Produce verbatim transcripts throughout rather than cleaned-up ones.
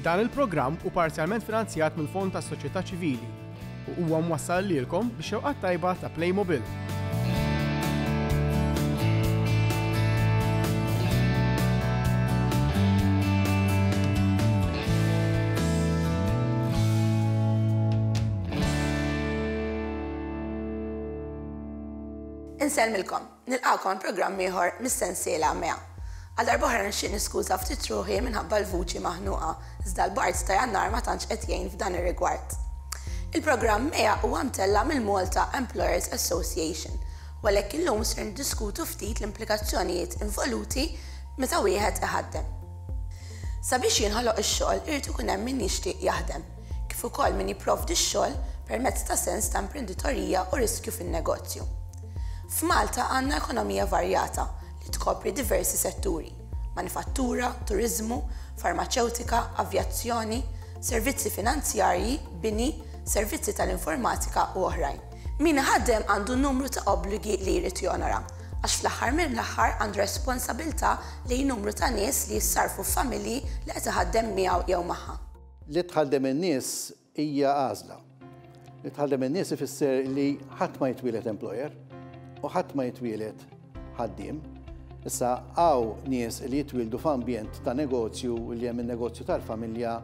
Dan il-programm hu parzjalment finanzjat mill-Fond tas-Soċjetà Ċivili u huwa mwassal lilkom bix-xewqat tajba ta' Playmobil. Insellmilkom, nilqakom programm ieħor mis-sensiela MEA. Għal darb'oħra nixtieq niskuża ftit ruħi minħabba l-vuċi maħnuqa, iżda l-bard ta' Jannar ma tantx qed jgħin f'dan ir-rigward. Il-programm MEA huwa mtella mill-Malta Employers Association, u għalhekk illum ser niddiskutu ftit l-implikazzjonijiet involuti meta wieħed iħaddem. Sabiex jinħoloq ix-xogħol irid ikun hemm min jixtieq jaħdem, kif ukoll min jipprovdi x-xogħol permezz ta' sens ta' imprenditorija u riskju fin-negozju. F'Malta għandna ekonomija varjata li tkopri diversi setturi: manifattura, turiżmu, farmaċewtika, avjazzjoni, servizzi finanzjarji, bini, servizzi tal-informatika u oħrajn. Min iħaddem għandu numru ta' obbligi li jrid jonora, għax fl-aħħar mill-aħħar għandu responsabilità lejn numru ta' nies li jissarfu f'familji li qed iħaddem miegħu jew magħha. Li tħaddem in-nies hija għażla. Li tħaddem in-nies ifisser li ħadd ma jitwieled employer u ħadd ma jitwieled ħaddiem. Issa hawn nies li jitwieldu f'ambjent ta' negozju li hemm in-negozju tal-familja.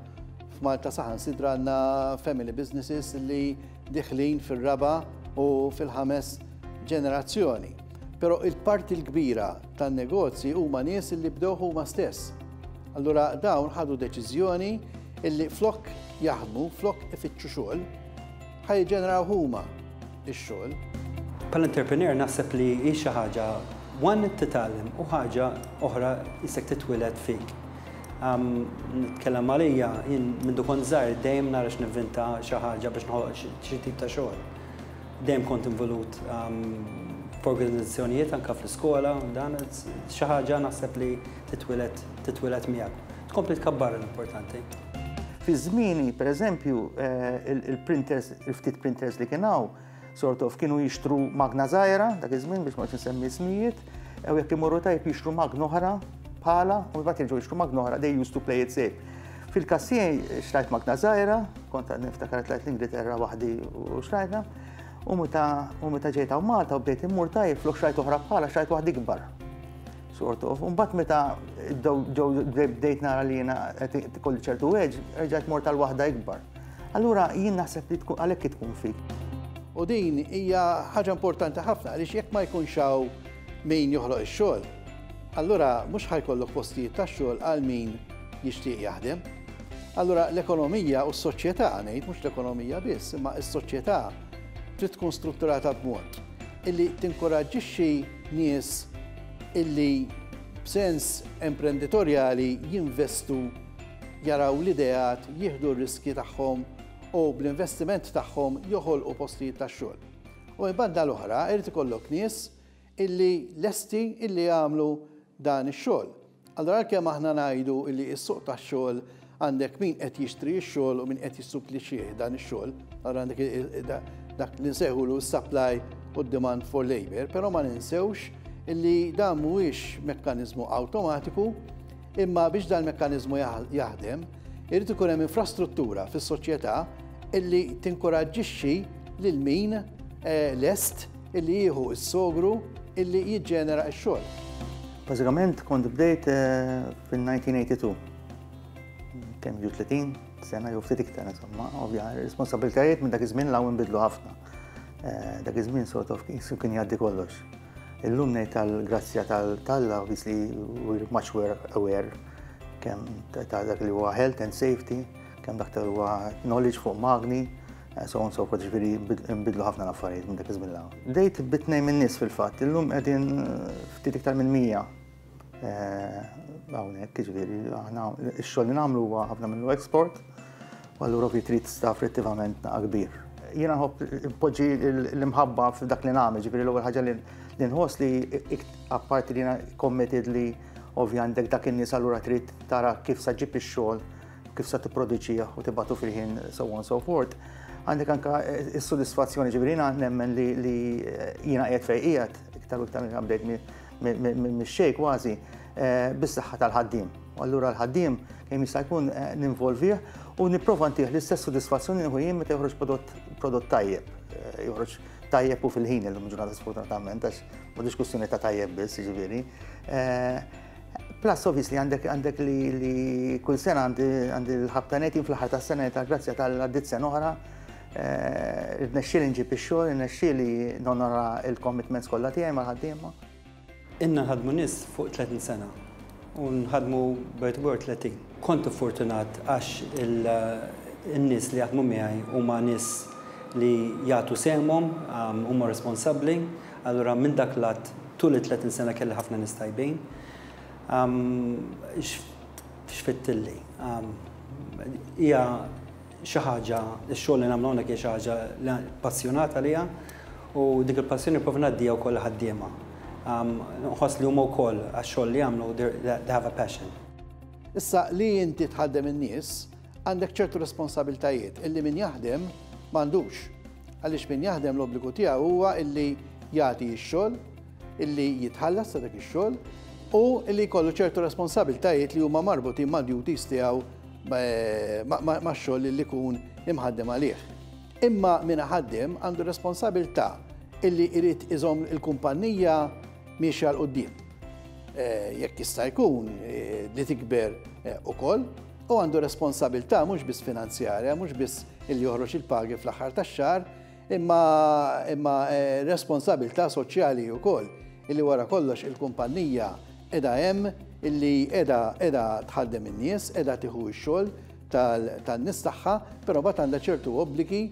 F'Malta saħansitra għandna family businesses li diħlin fir-raba' u fil-ħames ġenerazzjoni. Però il-parti l-kbira tan-negozji huma nies li bdew huma stess. Allura dawn ħadu deċiżjoni illi flok jaħdmu, flok ifittxu xogħol, ħa jiġġeneraw huma x-xogħol. Bħala entrepreneur naħseb li hi xi ħaġa one titgħallem u ħaġa oħra jisek titwieled fik. Nitkellem għalija, jien mindu kont żgħir dejjem nara x'nivvinta xi ħaġa biex noħloq xi tip ta' xogħol. Dejjem kont involut f'organizzazzjonijiet anke fl-iskola, dan xi ħaġa naħseb li titwieled titwieled miegħek. Tkompli tkabbar l-importanti. Fi żmieni, pereżempju, il-printers, il-ftit printers li kien hawn, sort of kienu jixtru magna żgħira dak iż-żmien biex ma nsemmi ismijiet, u jekk imorru tajb jixtru magna oħra bħala, u mbagħad jerġgħu jixtru magna oħra, they used to play it safe. Fil-każ tiegħi xtrajt magna żgħira, kont niftakar tlajt l-Ingilterra waħdi u xtrajtha, u meta u meta ġejt hawn Malta u bdejt immur tajb flok xtrajt oħra bħala xtrajt waħda ikbar. Sort of. U mbagħad meta bdejt nara li jiena qed ikolli ċertu edge, erġajt mort għal waħda ikbar. Allura jien naħseb li tkun għalhekk tkun fik. U din hija ħaġa importanti ħafna għaliex jekk ma jkunx hawn min joħloq ix-xogħol, allura mhux ħa jkollok postijiet tax-xogħol għal min jixtieq jaħdem. Allura l-ekonomija u s-soċjetà ngħid mhux l-ekonomija biss, imma s-soċjetà trid tkun strutturata b'mod illi tinkoraġġixxi nies illi b'sens imprenditorjali jinvestu, jaraw l-ideat, jieħdu r-riski tagħhom u bl-investiment tagħhom joħolqu postijiet tax-xogħol. U minn banda l-oħra irid ikollok nies illi lesti illi jagħmlu dan ix-xogħol. Allura għalkemm aħna ngħidu illi s-suq tax-xogħol għandek min qed jixtri x-xogħol u min qed jissupplixxih dan ix-xogħol, allura għandek dak li nsejħulu supply u demand for labor, però ma ninsewx illi dan mhuwiex mekkaniżmu awtomatiku, imma biex dan il-mekkaniżmu jaħdem, irid ikun hemm infrastruttura fis-soċjetà illi tinkoraġġixxi lil min lest illi jieħu s-sogru illi jiġġenera x-xogħol. Bażikament kont bdejt fil-nineteen eighty-two. Kemm ġu tletin sena jew ftit iktar, insomma, ovvja, responsabilitajiet minn dak iż-żmien 'l hawn inbidlu ħafna. Dak iż-żmien sort of kien jgħaddi kollox. Illum ngħid tal-grazzja tal-Alla, obviously we're much more aware kemm ta' dak li huwa health and safety, kemm dak li huwa knowledge fuq magni, so on so forth, ġifieri nbidlu ħafna l-affarijiet minn dak iż-żmien 'l hawn. Bdejt bi tnejn minn nies fil-fatt, illum qegħdin ftit iktar minn mija hawnhekk, ġifieri aħna x-xogħol li nagħmlu huwa ħafna minnu export, u allura fi trid staff relattivament naqa' kbir. Jiena nħobb npoġġi l-imħabba f'dak li nagħmel, ġifieri l-ewwel ħaġa li nħoss li apparti li jiena committed li ovvja għandek dak in-nies allura trid tara kif sa ġib ix-xogħol, kif sa tipproduċih u tibgħatu fil-ħin, so on so forth. Għandek anka s-sodisfazzjoni, ġifieri jiena nemmen li jiena qiegħed fejn qiegħed, iktar u iktar bdejt mix-xejn kważi, bis-saħħa tal-ħaddiem. U allura l-ħaddiem kemm jista' jkun ninvolvih u nipprova ntih l-istess sodisfazzjoni nieħu jien meta joħroġ prodott tajjeb. Joħroġ tajjeb u fil-ħin illum ġurnata sfortunatament għax m'għadux kwistjoni ta' tajjeb biss, jiġifieri. Plus obviously għandek għandek li kull sena għandi l-ħabta nett fl-aħħar tas-sena ta' grazzja tal-għaddit sena oħra. Irnexxieli nġib ix-xogħol, irnexxieli nonora il-commitments kollha tiegħi mal-ħaddiema. Inna nħadmu nies fuq tletin sena u nħadmu bert tletin. Kont fortunat għax in-nies li jaħdmu miegħi huma nies li jagħtu sehemhom, huma responsabbli, allura minn dak lat tul it-tletin sena kelli ħafna nies tajbin. X'fittilli. Hija xi ħaġa, ix-xogħol li nagħmlu hawnhekk hija xi ħaġa li passjonata għaliha u dik il-passjoni nipprova ngħaddiha wkoll ħaddiema. Nħoss li huma wkoll għax-xogħol li jagħmlu they have a passion. Issa li inti tħaddem in-nies għandek ċertu responsabiltajiet illi min jaħdem m'għandux. Għaliex min jaħdem l-obbligu tiegħu huwa illi jagħti x-xogħol, illi jitħallas ta' dak ix-xogħol u illi jkollu ċertu responsabiltajiet li huma marbutin ma' duties tiegħu ma' xogħol li jkun imħaddem għalih. Imma min ħaddem għandu responsabilità illi jrid iżomm il-kumpanija miexja 'l quddiem. Jekk jista' jkun li tikber ukoll, u għandu responsabilità mhux biss finanzjarja, mhux biss illi joħroġ il-pagi fl-aħħar tax-xahar, imma imma responsabilità soċjali wkoll illi wara kollox il-kumpanija qiegħda hemm illi qiegħda qiegħda tħaddem in-nies, qiegħda tieħu x-xogħol tan-nies tagħha, però mbagħad għandha ċertu obbligi,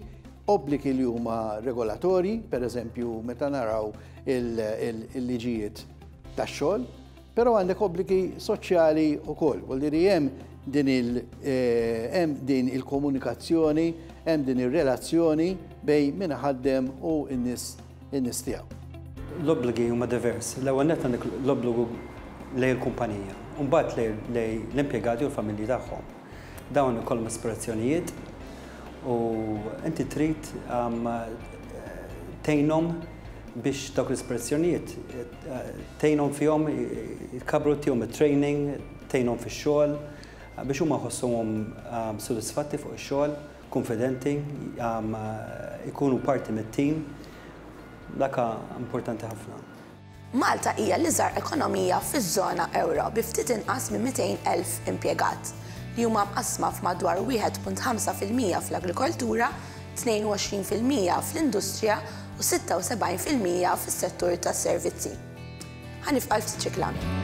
obbligi li huma regolatorji, pereżempju meta naraw il-liġijiet tax-xogħol, però għandek obbligi soċjali wkoll. Vuol dire hemm din il hemm din il-komunikazzjoni, hemm din ir-relazzjoni bejn min ħaddem u n-nies in-nies tiegħu. L-obbligi huma diversi. L-ewwel nett għandek l-obbligu lejn il-kumpanija, u mbagħad lejn l-impjegati u l-familji tagħhom. Dawn ikollhom aspirazzjonijiet u inti trid tgħinhom biex dawk l-aspirazzjonijiet tgħinhom fihom, jkabru tihom it-training, tgħinhom fix-xogħol biex huma jħossuhom sodisfatti fuq ix-xogħol, konfidenti, ikunu parti mit-tim. Dak importanti ħafna. Malta hija l-iżgħar ekonomija fiż-żona ewro bi ftit inqas minn mitejn elf impjegat li huma mqassma f'madwar wieħed punt ħamsa fil-mija fl-agrikoltura, tnejn u għoxrin fil-mija fl-industrija u sitta u sebgħin fil-mija fis-settur tas-servizzi. Ħa nifqal ftit reklami.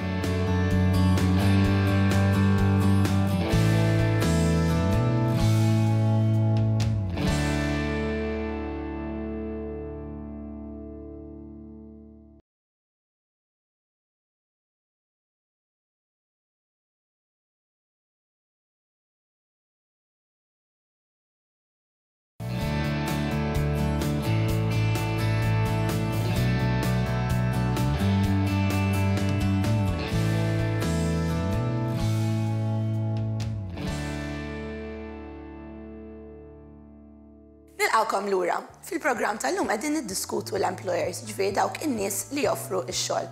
Nilqawkom lura. Fil-programm tal-lum qegħdin niddiskutu l-employers, ġifieri dawk in-nies li joffru x-xogħol.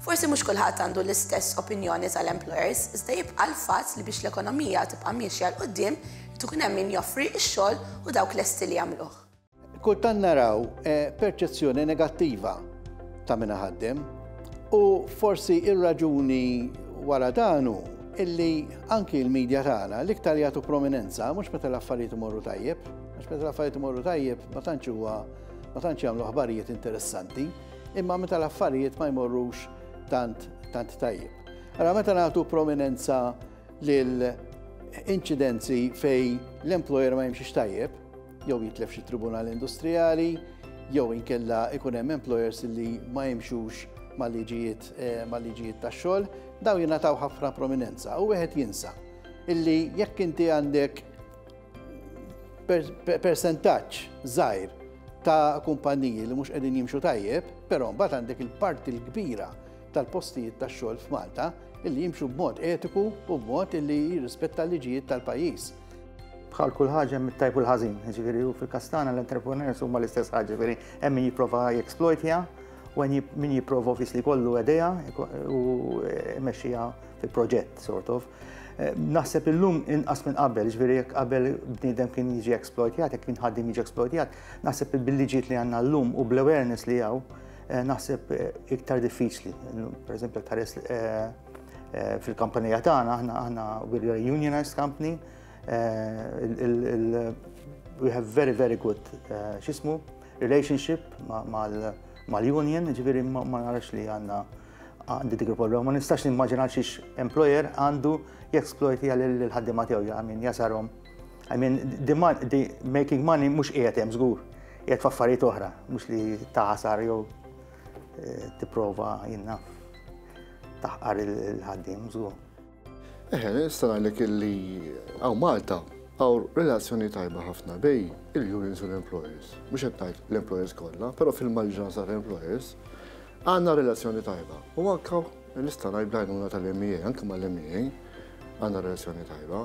Forsi mhux kulħadd għandu l-istess opinjoni tal-employers, iżda jibqa' l-fatt li biex l-ekonomija tibqa' miexja 'l quddiem irid ikun hemm min joffri x-xogħol u dawk lesti li jagħmluh. Kultant naraw perċezzjoni negattiva ta' min ħaddem u forsi ir-raġuni wara dan hu illi anki l-medja tagħna l-iktar jagħtu prominenza mhux meta l-affarijiet imorru tajjeb, għax meta l-affarijiet imorru tajjeb ma tantx huwa ma tantx jagħmlu aħbarijiet interessanti, imma meta l-affarijiet ma jmorrux tant, tant tajjeb. Allora meta nagħtu prominenza lil inċidenzi fej l-employer ma jimxiex tajjeb, jew jitlef xi tribunal industrijali, jew inkella ikun hemm employers li ma jimxux mal-liġijiet, eh, mal-liġijiet tax-xogħol, daw jingħataw ħafna prominenza u wieħed jinsa illi jekk inti għandek per-, per-, persentaġġ żgħir ta' kumpaniji li mhux qegħdin jimxu tajjeb, però mbagħad għandek il-parti l-kbira tal-postijiet tax-xogħol f'Malta illi jimxu b'mod etiku u b'mod illi jirrispetta l-liġijiet tal-pajjiż. Bħal kull ħaġa hemm it-tajb u l-ħażin, jiġifieri u fil-każ tagħna l-entrepreneurs huma l-istess ħaġa, jiġifieri hemm min jipprova jexploitja U min jipprova obviously kollu idea u mexxija fi proġett, sort of. Naħseb illum inqas minn qabel, ġifieri jekk qabel bniedem kien jiġi exploitjat, jekk kien ħaddiem jiġi exploitjat, naħseb bil-liġijiet li għandna llum u bl-awareness li hawn, naħseb iktar diffiċli. Per eżempju, tħares fil-kampanija tagħna, aħna aħna we're a unionized company, we have very, very good x'jismu relationship mal-union, ġifieri ma narax li għandna għandi dik il-problema. Ma nistax nimmaġina xiex employer għandu jexploiti għal ħaddiema tiegħu, I mean, jasarhom. I mean, the, the making money mhux qiegħed hemm żgur, qiegħed f'affarijiet oħra, mhux li taħsar jew tipprova jiena taħqar il-ħaddiem żgur. Eħe, nista' ngħidlek illi hawn Malta hawn relazzjoni tajba ħafna bejn il-unions u l-employers. Mhux qed ngħid l-employers kollha, però fil-maġġoranza tal-employers għandna relazzjoni tajba. U anke nista' ngħid bl-għajnuna tal-M E A, anke mal-M E A għandna relazzjoni tajba.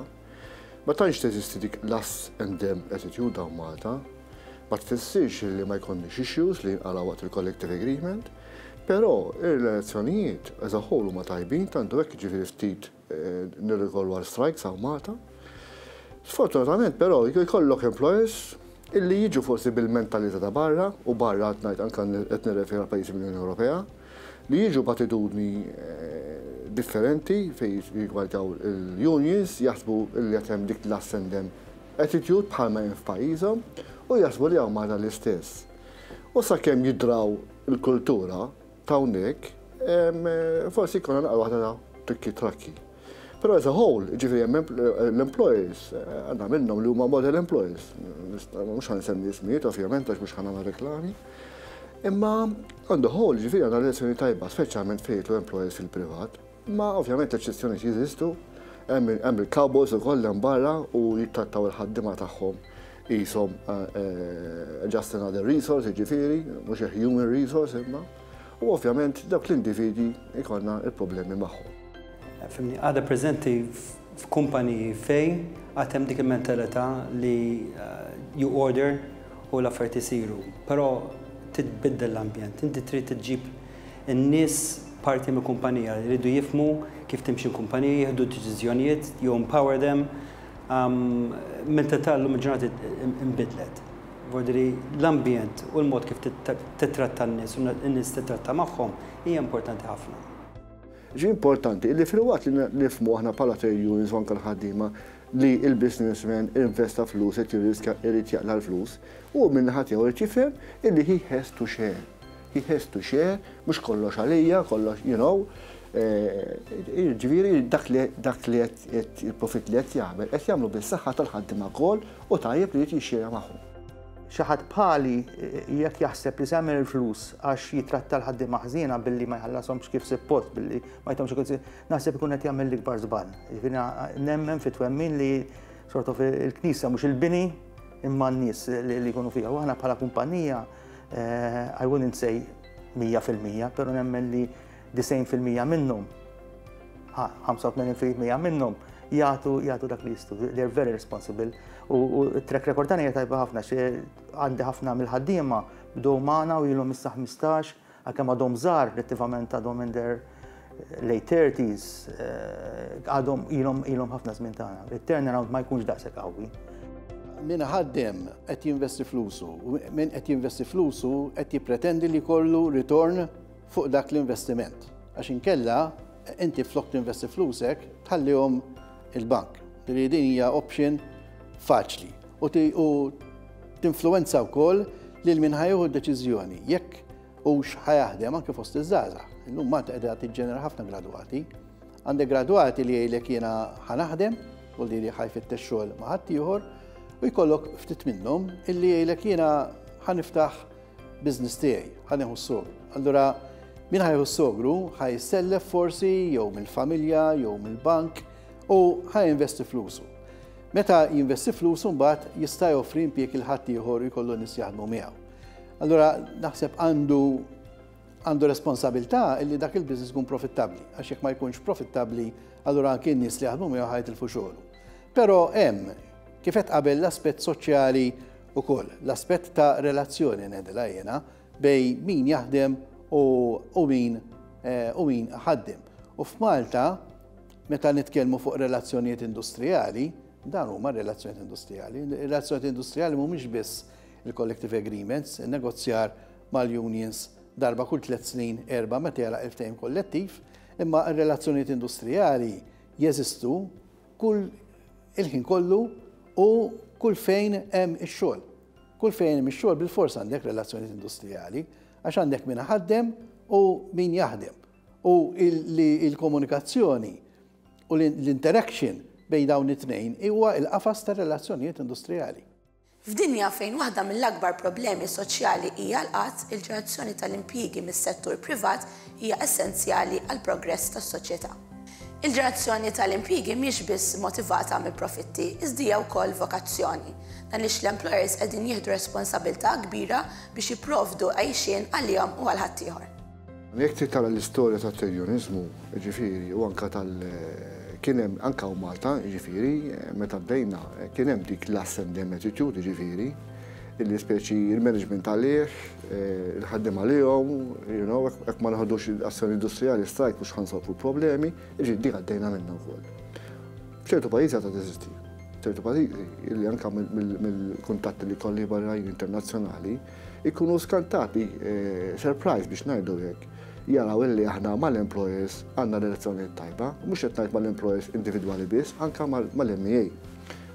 Ma tantx teżisti dik l-us and them attitude hawn Malta, ma tfissirx li ma jkollniex issues li jinqala waqt il-collective agreement, però ir-relazzjonijiet as a whole huma tajbin, tantu hekk ġifieri ftit nirrikorru għal strikes hawn Malta. Sfortunatament però jkollok employers illi jiġu forsi bil-mentalità ta' barra, u barra qed ngħid anke qed nirreferi għal pajjiżi mill-Unjoni Ewropea, li jiġu b'attitudni differenti fejn jigwaltaw il-unions, jaħsbu li qed hemm dik l-us and them attitude bħalma hemm f'pajjiżhom u jaħsbu li hawn Malta l-istess. U sakemm jidraw il-kultura ta' hawnhekk, forsi jkollna naqra waħda ta' trikki trakki. Però as a whole, ġifieri l-employers, għandna minnhom li huma model employers. Mhux ħa nsemmi ismijiet, ovvjament, għax mhux ħa nagħmel reklami. Imma on the whole, ġifieri għandna relazzjoni tajba, speċjalment fejn l-employers fil-privat. Ma ovvjament eċċezzjoni jeżistu, hemm il-cowboys ukoll hemm barra u jittrattaw il-ħaddiema tagħhom qishom just another resource, ġifieri, mhux a human resource imma. U ovvjament dawk l-individwi ikollna il-problemi magħhom. Fhimni, għadha preżenti f'kumpaniji fejn għad hemm dik il-mentalità li you order u l-affarijiet isiru. Però titbiddel l-ambjent, inti trid tġib in-nies parti mill kumpanija, jridu jifhmu kif timxi l-kumpanija, jieħdu deċiżjonijiet, you empower them. Mentalità llum il-ġurnata imbidlet. Vordiri l-ambjent u l-mod kif titratta n-nies u n-nies titratta magħhom hija importanti ħafna. Ġi importanti illi fil-waqt li nifhmu aħna bħala trade unions u anke l-ħaddiema li il-businessman investa flus, qed jirriskja, irid jaqla l-flus, u min-naħa tiegħu irid jifhem illi he has to share. He has to share, mhux kollox għalija, kollox, you know, ġifieri dak li dak li qed il-profit li qed jagħmel qed jagħmlu bis-saħħa tal-ħaddiema wkoll u tajjeb li jrid jixxerja magħhom. Xi ħadd bħali jekk jaħseb li se jagħmel il-flus għax jitratta l-ħaddiema ħażina billi ma jħallashomx kif suppost, billi ma jtahomx kif, naħseb ikun qed jagħmel l-ikbar żball. Jiġifieri nemmen fi twemmin li sort of il-knisja mhux il-bini imma n-nies li jkunu fiha. U aħna bħala kumpanija, I wouldn't say mija fil-mija, però nemmen li disgħin fil-mija minnhom, ħamsa u tmenin fil-mija minnhom jagħtu jagħtu dak li jistgħu. They're very responsible. U track record tagħna hija tajba ħafna, xi għandi ħafna mill-ħaddiema bdew magħna u ilhom issa ħmistax, għalkemm għadhom żgħar, relattivament għadhom in their late thirties, għadhom ilhom ilhom ħafna żmien tagħna. Il-turnaround ma jkunx daqshekk qawwi. Min ħaddem qed jinvesti flusu, u min qed jinvesti flusu qed jippretendi li jkollu ritorn fuq dak l-investiment. Għax inkella inti flok tinvesti flusek tħallihom il-bank. Li din hija option faċli u tinfluwenza wkoll lil min ħa jieħu d-deċiżjoni jekk hux ħa jaħdem, anke fost iż-żgħażagħ. Illum Malta qiegħda tiġġenera ħafna gradwati. Għandek gradwati li jgħidlek jiena ħa naħdem u li li ħa jfittex xogħol ma' ħaddieħor, u jkollok ftit minnhom illi jgħidlek jiena ħa niftaħ business tiegħi, ħa nieħu s-sogru. Allura min ħa jieħu s-sogru ħa jissellef forsi jew mill-familja jew mill-bank u ħa jinvesti flusu. Meta jinvesti flusu, mbagħad jista' joffri impjieg lil ħaddieħor, jkollu nies jaħdmu miegħu. Allura naħseb għandu għandu responsabilità illi dak il-business ikun profittabbli, għax jekk ma jkunx profittabbli, allura anke n-nies li jaħdmu miegħu ħa jitilfu xogħlu. Però hemm, kif qed qabel, l-aspett soċjali ukoll, l-aspett ta' relazzjoni ngħidilha jiena bejn min jaħdem u min u min ħaddem. U f'Malta, meta nitkellmu fuq relazzjonijiet industrijali, dan huma relazzjonijiet industrijali. Relazzjonijiet industrijali mhumiex biss il-collective agreements, il-negozjar mal-unions darba kull tliet snin, erba' meta jara il-ftehim kollettiv, imma r-relazzjonijiet industrijali jeżistu kull il-ħin kollu u kull fejn hemm ix-xogħol. Kull fejn hemm ix-xogħol bilfors għandek relazzjonijiet industrijali, għax għandek min ħaddem u min jaħdem. U il-komunikazzjoni u l-interaction bejn dawn it-tnejn huwa il-qafas ta' relazzjonijiet industrijali. F'dinja fejn waħda mill-akbar problemi soċjali hija l-qatt, il-ġenerazzjoni tal-impjiegi mis-settur privat hija essenzjali għal progress tas-soċjetà. Il-ġenerazzjoni tal-impjiegi mhix biss motivata mill-profitti, iżda hija wkoll vokazzjoni. Dan għaliex l-employers qegħdin jieħdu responsabilità kbira biex jipprovdu għajxien għalihom u għal ħaddieħor. Jekk trid tara l-istorja tat-trade jiġifieri, u anka tal- kien hemm anka u Malta, jiġifieri, meta bdejna, kien hemm dik l-us and them attitude, jiġifieri, illi speċi il-management għalih, il-ħaddiem għalihom, you know, jekk ma naħdux azzjoni industrijali, strike, mhux ħa nsolvu problemi, jiġifieri dik għaddejna minnha wkoll. F'ċertu pajjiżi għadha teżisti. ċertu pajjiżi illi anka mill-kuntatti li kolli barra internazzjonali ikunu skantati, surprise biex ngħidu hekk, jaraw illi aħna mal-employers għandna relazzjoni tajba, mhux qed ngħid mal-employers individwali biss, anka mal-M E A.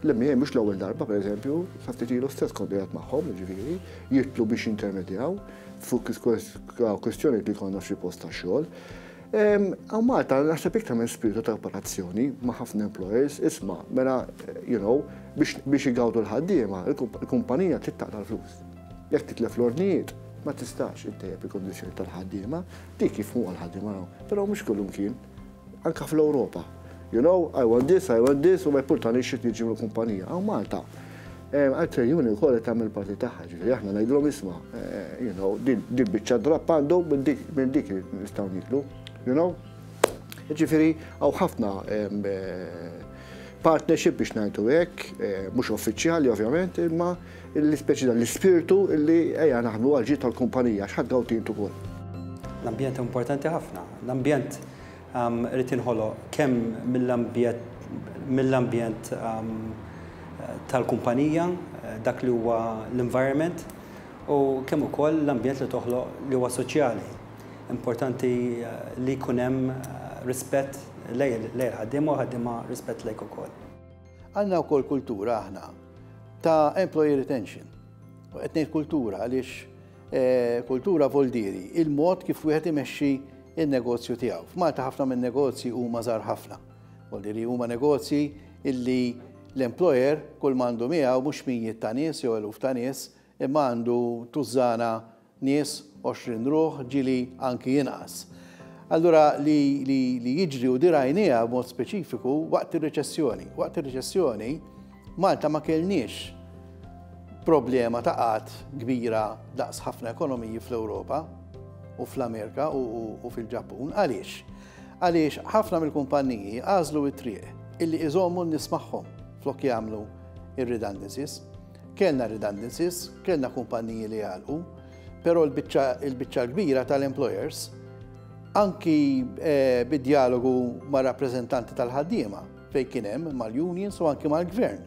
L-M E A mhux l-ewwel darba, pereżempju, sa ftit ilu stess kont qiegħed magħhom, jiġifieri, jitlu biex intermedjaw fuq kwestjoni li konna f'xi post ta' xogħol. Hawn Malta naħseb iktar minn spiritu ta' operazzjoni ma' ħafna employers, isma', mela, you know, biex igawdu l-ħaddiema, il-kumpanija trid taqla' l-flus. Jekk titlef l-ordnijiet, ma tistax ittejjeb il-kondizzjoni tal-ħaddiema, dik jifhmu għal-ħaddiema, però mhux kullum kien, anka fl-Ewropa. You know, I want this, I want this, u ma jimpurtani xi tiġi mill-kumpanija. Hawn Malta. Għal union ukoll tagħmel parti tagħha, ġifieri aħna ngħidulhom isma', you know, din biċċa drapp għandu minn dik nistgħu niklu, you know. Ġifieri hawn ħafna partnership biex ngħidu hekk, mhux uffiċjali ovvjament, imma l-ispeċi l-ispirtu illi ejja naħdmu għal ġid tal-kumpanija, x'ħadd gawtin ukoll. L-ambjent importanti ħafna. L-ambjent irid jinħoloq kemm mill-ambjent mill-ambjent tal-kumpanija, dak li huwa l-environment, u kemm ukoll l-ambjent li toħloq li huwa soċjali. Importanti li jkun hemm rispett lejn il-ħaddiema u ħaddiema rispett lejk ukoll. Għandna wkoll kultura aħna ta' employee retention. U qed ngħid kultura għaliex kultura voldiri il-mod kif wieħed imexxi il-negozju tiegħu. F'Malta ħafna minn negozji huma żgħar ħafna. Voldiri huma negozji illi l-employer kull m'għandu miegħu mhux mijiet ta' nies jew eluf ta' nies, imma għandu tużana nies, għoxrin ruħ, ġieli anki jinqas. Allura li, li, li jiġri u dirajnija b'mod speċifiku waqt ir-reċessjoni. Waqt ir-reċessjoni Malta ma kellniex problema ta' qgħad kbira daqs ħafna ekonomiji fl-Ewropa u fl-Amerika u, u, u fil-Ġappun. Għaliex? Għaliex ħafna mill-kumpanniji għażlu it-triq illi iżommu n-nies magħhom flok jagħmlu ir-redundancies. Kellna redundancies, kellna kumpanniji li għalqu, però l-biċċa kbira tal-employers anki eh, bid-dialogu ma' rappreżentanti tal-ħaddiema fejn kien hemm mal-unions u anki mal-gvern.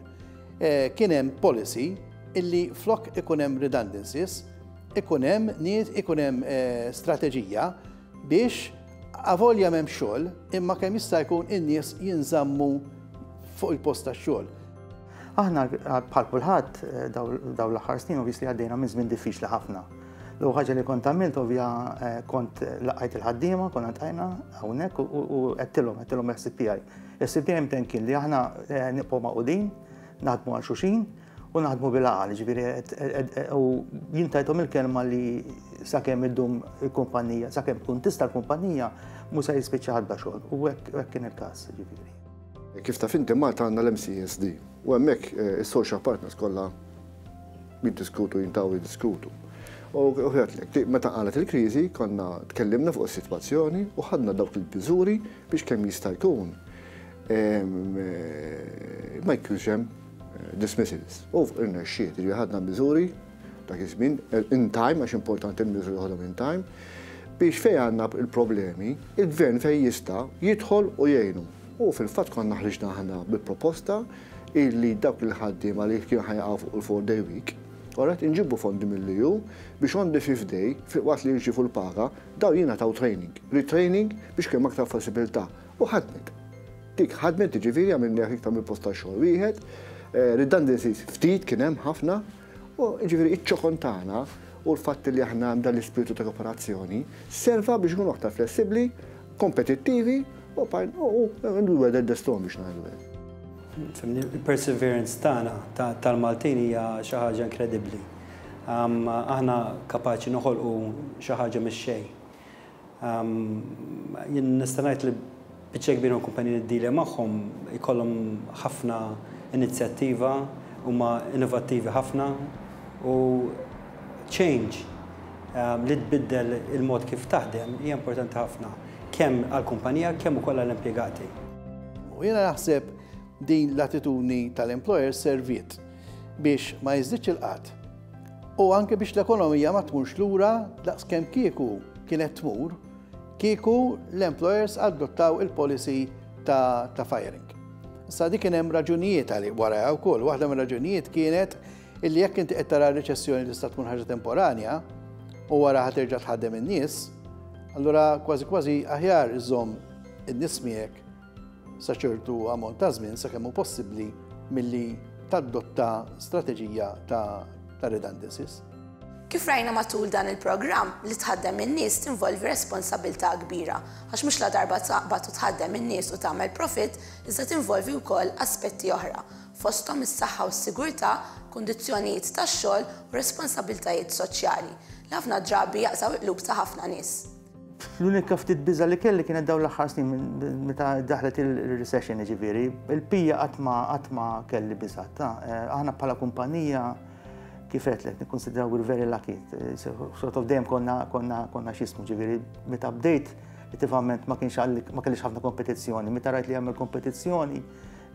Eh, kien hemm policy illi flok ikun hemm redundancies, ikun hemm nies, ikun hemm eh, strateġija biex avolja m'hemm xogħol, imma kemm jista' jkun in-nies jinżammu fuq il-post tax-xogħol. Aħna bħal kulħadd daw l-aħħar snin obviously għaddejna minn żmien diffiċli ħafna. L ħaġa li kont għamilt ovvja kont laqajt il-ħaddiema, konna tajna hawnhekk u għedtilhom, għedtilhom S C P I. S C P I mten kien li aħna nibqgħu magħqudin, naħdmu għal xulxin u naħdmu bil-għaqal, ġifieri u jien tajthom il-kelma li sakemm iddum il-kumpanija, sakemm tkun tista' l-kumpanija mhux se jispiċċa ħadd xogħol u hekk kien il-każ, ġifieri. Kif taf inti, Malta għandna l-M C S D u hemmhekk is-social partners kollha jiddiskutu, jintaw jiddiskutu. U għedtlek, meta qalet il-kriżi konna tkellimna fuq is-sitwazzjoni u ħadna dawk il-miżuri biex kemm jista' jkun ma jkunx hemm dismissals. U irnexxiet, ġifieri ħadna miżuri dak iż-żmien in time, għax importanti l-miżuri ħadhom in time, Biex fejn għandna il-problemi, il-gvern fejn jista' jidħol u jgħinu. U fil-fatt konna ħriġna aħna bil-proposta illi dawk il-ħaddiema li kienu ħa jaqgħu fuq il-four day week, Alright, inġibu fondi mill-E U biex on the fifth day, waqt li jirċievu l-paga, daw jingħataw training, retraining biex kemm aktar flessibilità. U ħadmet. Dik ħadmet, ġifieri għamilna iktar mill posta xogħol wieħed, eh, redundancies ftit kien hemm ħafna, u ġifieri iċ-ċokon tagħna u l-fatt li aħna għandna l-ispiritu ta' kooperazzjoni serva biex nkunu aktar flessibbli, kompetittivi u u u weather the storm, biex ngħidu hekk. Fhimni, il-perseverance tagħna tal-Maltin hija xi ħaġa inkredibbli. Aħna kapaċi noħolqu xi ħaġa mix-xejn. Jien nista' ngħid li biċċa kbira kumpaniji niddilja magħhom ikollhom ħafna inizjattiva, huma innovattivi ħafna u change li tbiddel il-mod kif taħdem hija importanti ħafna kemm għall-kumpanija kemm ukoll għall-impjegati. U jiena naħseb din l-attitudni tal-employer serviet biex ma jiżdiedx il-qgħad u anke biex l-ekonomija ma tmurx lura daqs kemm kieku kienet tmur kieku l-employers adottaw il-policy ta', ta firing. Issa dik kien hemm raġunijiet għal wara wkoll. Waħda mir-raġunijiet kienet illi jekk inti qed tara reċessjoni tista' tkun ħaġa temporanja u wara ħa terġa' tħaddem in-nies, allura kważi kważi aħjar iżomm in-nies miegħek sa ċertu ammont ta' żmien sakemm hu possibbli milli tadotta strateġija ta', ta redundancies. Kif rajna matul dan il-programm, li tħaddem in-nies tinvolvi responsabilità kbira, għax mhux la darba taqbad u tħaddem in-nies u tagħmel profit, iżda tinvolvi wkoll aspetti oħra, fosthom is-saħħa u s-sigurtà, kundizzjonijiet tax-xogħol u responsabiltajiet soċjali li ħafna drabi jaqtgħu il-qlub ta' ħafna nies. L-unika ftit biża li kelli kienet dawn l-aħħar snin meta daħlet il-recession, ġifieri, il-pija qatt ma qatt ma kelli biża. Eh, aħna bħala kumpanija, kif għedtlek, nikkonsidraw we're very lucky. Sort of dejjem konna konna konna x'jismu, ġifieri, meta bdejt relativament ma kienx ma kellix ħafna kompetizzjoni. Meta rajt li għamel kompetizzjoni,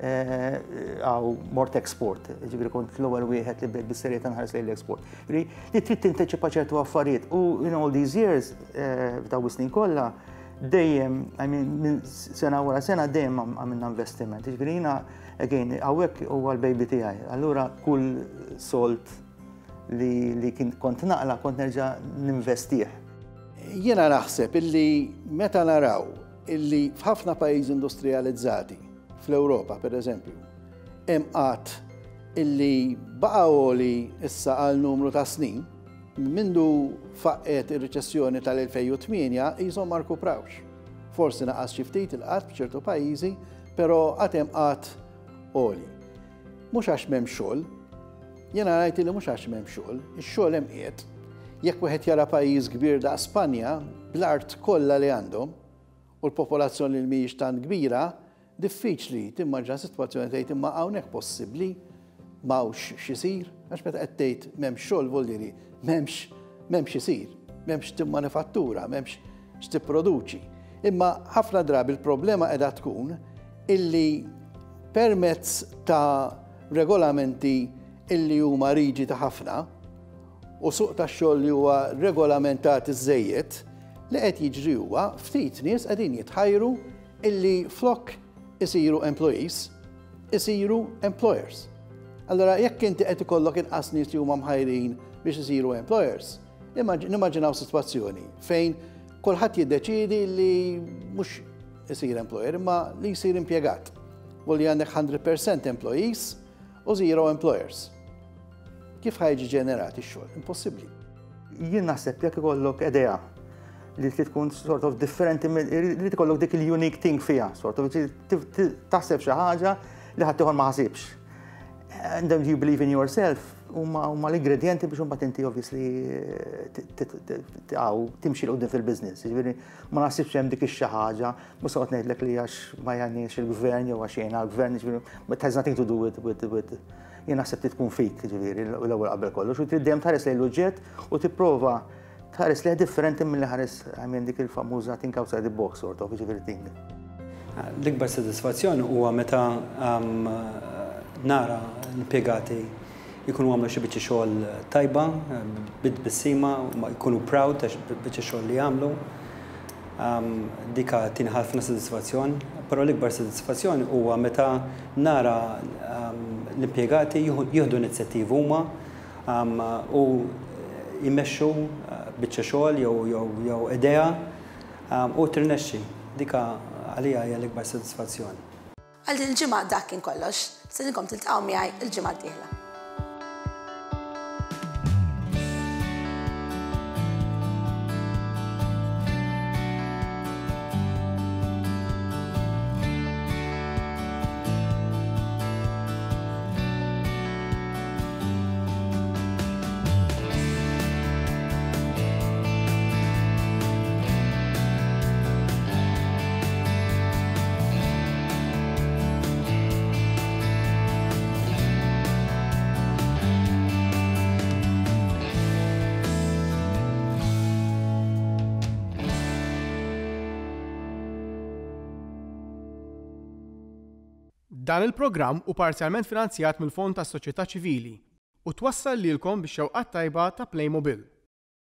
għaw mort export, ġifieri kont l-ewwel wieħed li bdejt bis-serjetà nħares lejn l-export. Li trid tinteċipa ċertu affarijiet u in all these years, eh, f'daw is-snin kollha, dejjem, I mean, minn sena wara sena dejjem għamilna investiment. Ġifieri jiena, again, hawnhekk huwa l-baby tiegħi. Allura kull sold li, li kien kont naqla kont nerġa' ninvestih. Jiena naħseb illi meta naraw illi f'ħafna pajjiżi industrializzati, fl-Ewropa per eżempju, hemm qgħad illi baqa' għoli issa għal numru ta' snin, mindu faqqet ir-riċessjoni tal-elfejn u tmienja jisom ma rkuprawx. Forsi naqas xi ftit il-qgħad f'ċertu pajjiżi, però għad hemm qgħad għoli. Mhux għax m'hemm xogħol, jiena ngħid li mhux għax m'hemm xogħol, ix-xogħol hemm qiegħed. Jekk wieħed jara pajjiż kbir da' Spanja, bl-art kollha li għandhom u l-popolazzjoni li mhijiex tant kbira, diffiċli timmaġina sitwazzjoni tgħid imma hawnhekk possibbli m'hawnx x'isir, għax meta qed tgħid m'hemmx xogħol voldiri, m'hemmx m'hemmx isir, m'hemmx timmanifattura, m'hemmx x'tipproduċi. Imma ħafna drabi il-problema qiegħda tkun illi permezz ta' regolamenti illi huma riġidi ħafna u suq ta' xogħol li huwa regolamentat iżejjed, li qed jiġri huwa ftit nies qegħdin jitħajru illi flok isiru employees, isiru employers. Allora, jekk inti qed ikollok inqas nies li huma mħajrin biex isiru employers, nimmaġinaw sitwazzjoni fejn kulħadd jiddeċidi li mhux isir employer imma li jsir impjegat. U li għandek mija fil-mija employees u zero employers. Kif ħa jiġi ġenerat ix-xogħol? Impossibbli. Jien naħseb jekk ikollok idea li trid tkun sort of differenti, li tkollok dik il-unique thing fiha, sort of taħseb xi ħaġa li ħadd ma ħasibx. And then you believe in yourself, huma l-ingredienti biex imbagħad inti obviously għaw timxi 'l quddiem fil-business. Ġifieri ma naħsibx hemm dik ix-xi ħaġa, mhux se ngħidlek li għax ma jgħinniex il-gvern jew għax jgħinna l-gvern, ġifieri it has nothing to do with with with jien naħseb trid tkun fik, ġifieri l-ewwel qabel kollox, u trid dejjem tħares lejn l-oġġett u tipprova tħares lejh differenti milli ħares, I mean, dik il-famuża think outside the box sort of, ġifieri thing. L-ikbar sodisfazzjon huwa meta um, nara l-impjegati jkunu għamlu xi biċċa xogħol tajba, bit-tbissima, jkunu proud ta' biċċa xogħol li għamlu. Dika tini ħafna sodisfazzjon, però l-ikbar sodisfazzjon huwa meta nara l-impjegati jieħdu inizjattivi huma u jmexxu biċċa xogħol jew idea u tirnexxi. Dika għalija hija l-ikbar sodisfazzjon. Għal din il-ġimgħa dak kien kollox, nistedinkom tiltaqgħu miegħi il-ġimgħa d-dieħla. Dan il-programm hu parzjalment finanzjat mill-Fond tas-Soċjetà Ċivili u twassal lilkom bix-xewqat tajba ta' Playmobil.